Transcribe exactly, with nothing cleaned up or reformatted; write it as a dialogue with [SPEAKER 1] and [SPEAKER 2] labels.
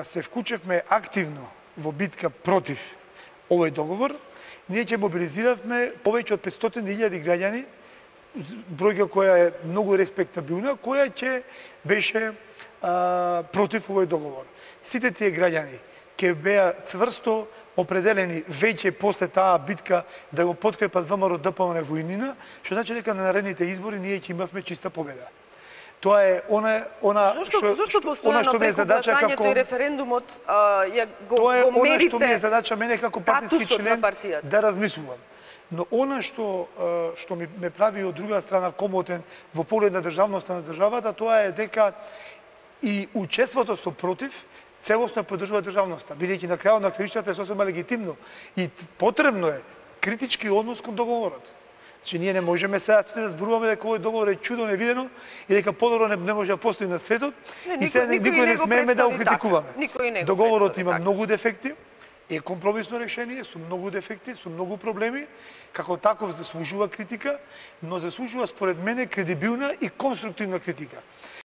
[SPEAKER 1] се вклучевме активно во битка против овој договор, ние ќе мобилизиравме повеќе од петстотини илјади граѓани, бројка која е многу респектабилна, која ќе беше а, против овој договор. Сите тие граѓани ќе беа цврсто определени веќе после таа битка да го подкрепат ВМРО Д П М Н војнина, што значи дека на наредните избори ние ќе имавме чиста победа. Тоа е она она
[SPEAKER 2] зошто што, зошто постојано
[SPEAKER 1] што ми е задача како
[SPEAKER 2] и референдумот а, ја го,
[SPEAKER 1] тоа е
[SPEAKER 2] го мерите.
[SPEAKER 1] Тоа е она што ми е задача мене како партиски член да размислувам. Но она што што ми ме прави од друга страна комотен во поглед на државноста на државата, тоа е дека и учеството со против целосно поддржува државноста, бидејќи на крајот на краиштата е сосема легитимно и потребно е критички однос кон договорот. Значи ние не можеме сега сите да зборуваме дека овој договор е чудо невидено и дека подобро не, не може да постои на светот
[SPEAKER 2] не,
[SPEAKER 1] и сега никој, никој не смееме да го критикуваме.
[SPEAKER 2] Така.
[SPEAKER 1] Договорот има така. Многу дефекти, е компромисно решение со многу дефекти, со многу проблеми, како таков заслужува критика, но заслужува според мене кредибилна и конструктивна критика.